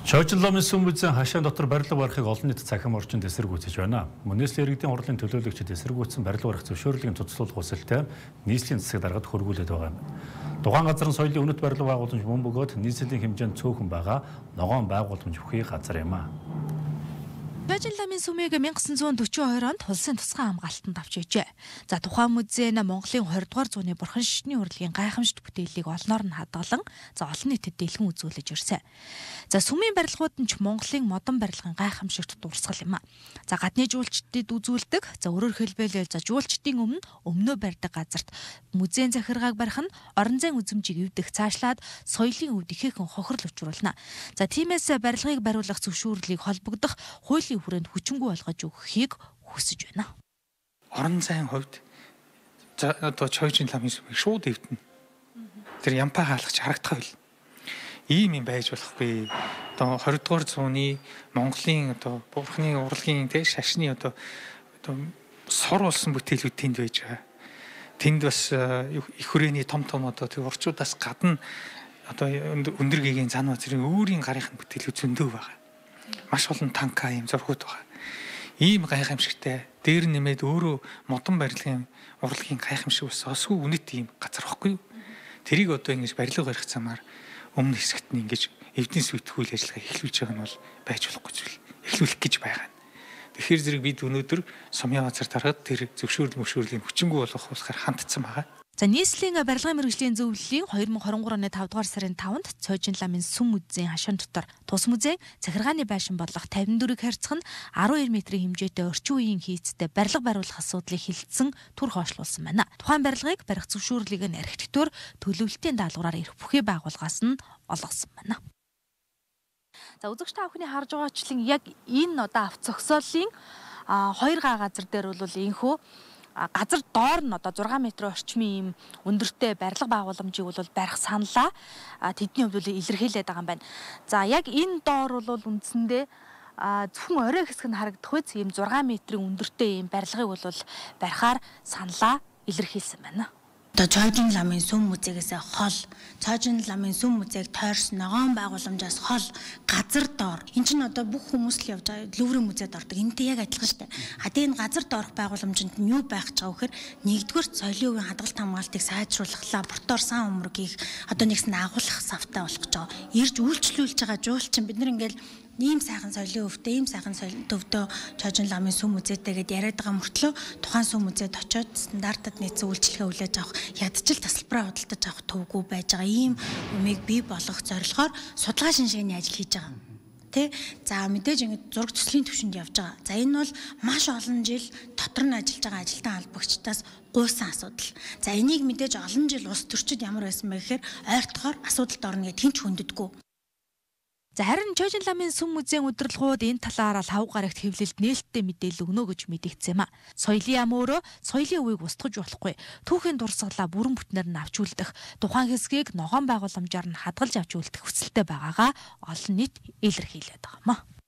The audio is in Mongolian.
Чойжломын сүм үзэн хашаан дотор барилга барихыг олон нийт цахим орчинд эсэргүүцэж байна. Мөнөөс л иргэдийн хурлын төлөөлөгчид эсэргүүцсэн барилга барих зөвшөөрлөгийн цуцлуулах хүсэлтэй нийслэлийн засаг даргад хөргүүлээд байгаа юм. Тухайн газрын соёлын үнэт барилга байгууламж мөн бөгөөд нийслэлийн хэмжээнд цөөхөн байгаа ногоон байгууламж бүхий газар юм а. Чойжломын сүмийг 1942 онд улсын тусгай хамгаалтанд авч ижээ. За тухайн музей нь Монголын 20 дугаар зууны бурхан шишний урлагийн гайхамшигт бүтээлийг олноор нь хадгалан олон нийтэд дэлгэн үзүүлж ирсэн. За сүмийн барилгууд нь ч Монголын модон барилгын гайхамшигт дурсгал юм а. За гадны жуулчдад үзүүлдэг, өөрөөр хэлбэл жуулчдын өмнөө барьдаг газарт музейн захиргааг барих нь орон зайн үзмжийг эвдэх цаашлаад соёлын өвд ихээхэн хохирол учруулна. За тиймээс барилгыг бариулах зөвшөөрлийг холбогдох хуулийн хүрээнд хүчингүй болгож өгөхийг хүсэж байна. Орон зайн хувьд одоо Чойжломын сүмийг шууд эвдэнэ. Тэр ямпаа хаалгач харагдах байл. Ийм юм байж болохгүй. Одоо 20 дугаар зууны Монголын одоо бурхны урлагийн шашны одоо сор болсон бүтээлүүд тэнд байж байгаа. Тэнд бас их хүрээний том одоо тэр урчуудаас гадна одоо өндөр гэгийн зан базрын өөрийн гарынхын бүтээлүүд зөндөө байгаа. Маш олон танка юм зургууд байгаа. Ийм гайхамшигтай дээр нэмээд өөрөө модон барилгын урлагийн гайхамшиг бас осгүй үнэт ийм газар واخгүй юу. Тэрийг одоо ингэж барилга барих замаар өмнө хэсэгт нь ингэж эвдэн сүйтгэхүүл ажиллагаа эхлүүлж байгаа нь бол байж болохгүй зүйл. Эхлүүлэх гэж байгаа. Тэгэхээр зэрэг бид өнөөдөр сумын газар дараад тэр зөвшөөрлийн хүчингүй болохоор хандсан байгаа. За нийслэлийн барилгын мэргэжлийн зөвлөлийн 2023 оны 5 дугаар сарын 5-нд Чойжломын сүм музейн хашаан дотор тус музей захиргааны байшин бодлого 54-ийг харьцах нь 12 метрийн хэмжээтэй орчин үеийн хийцтэй барилга бариулах асуудлыг хилцсэн түр хойшлуулсан байна. Тухайн барилгыг барих зөвшөөрлийг нь архитектур төлөвлөлтийн даалгавраар эрх бүхий байгууллагаас нь олгосон байна. За үзэгч та бүхний харж байгаачлан яг энэ одоо авц зогсоолын 2 газар дээр бол инхүү газар доор нь одоо 6 м орчмын ийм өндөртэй барилга байгууламжийг бол барих саналаа тэдний хувьд бол илэрхийлээд байгаа юм байна. За яг энэ доор бол үндсэндээ зөвхөн орой хэсэг нь харагдах үз ийм 6 м-ийн өндөртэй ийм барилгыг бол барихаар саналаа илэрхийлсэн байна. Одоо Чойжломын сүм музейгээс хол, Чойжломын сүм музейг тойрсон ногоон байгууламжаас хол газар доор. Энд чинь одоо бүх хүмүүс л явж байгаа Луврын музейд ордог. Энэтэй яг адилхан шүү дээ. Тэгээд энэ газар доорх байгууламжинд нь юу байх гэж байгаа вэхээр нэгдүгээр соёлын үеийн хадгалт хамгаалтыг сайжруулах, лаборатори сан өмрөг хийх, одоо нэгсэн агуулах савтай болох гэж байгаа. Ирж үйлчлүүлж байгаа жуулчин бид нар ингээл ийм сайхан соёлын өвдөө, ийм сайхан соёлын төвдөө Чойжломын сүм музейтэй гэдээ яриад байгаа мөртлөө тухайн сүм музейд очиод стандартад нийцсэн үйлчлэгээ хүлээж авах, ядчил тасалбараа худалдаж авах төвгүй байж байгаа ийм юмыг бий болгох зорилгоор судалгаа шинжилгээний ажил хийж байгаа. Тэ? За мэдээж ингэ зураг төслийн түвшинд явж байгаа. За энэ бол маш олон жил дотор нь ажиллаж байгаа ажилтан албагчдаас гуйсан асуудал. За энийг мэдээж олон жил улс төрчид ямар байсан бэ гэхээр ойртохоор асуудалд орно гэд хинч хүнддэггүй. За харин Чойжломын сүм музейн удирдлагууд энэ талаараа 5 гарагт хэвлэлд нээлттэй мэдээлэл өгнө гэж мэдэгдсэн юм а. Соёлын ам өөрөө соёлын үеийг устгаж болохгүй. Түүхийн дурсгалаа бүрэн бүтнээр нь авч үлдэх, тухайн хэсгийг ногоон байгууламжаар нь хадгалж авч үлдэх хүсэлтэй байгаагаа олон нийт илэрхийлээд байгаа юм а.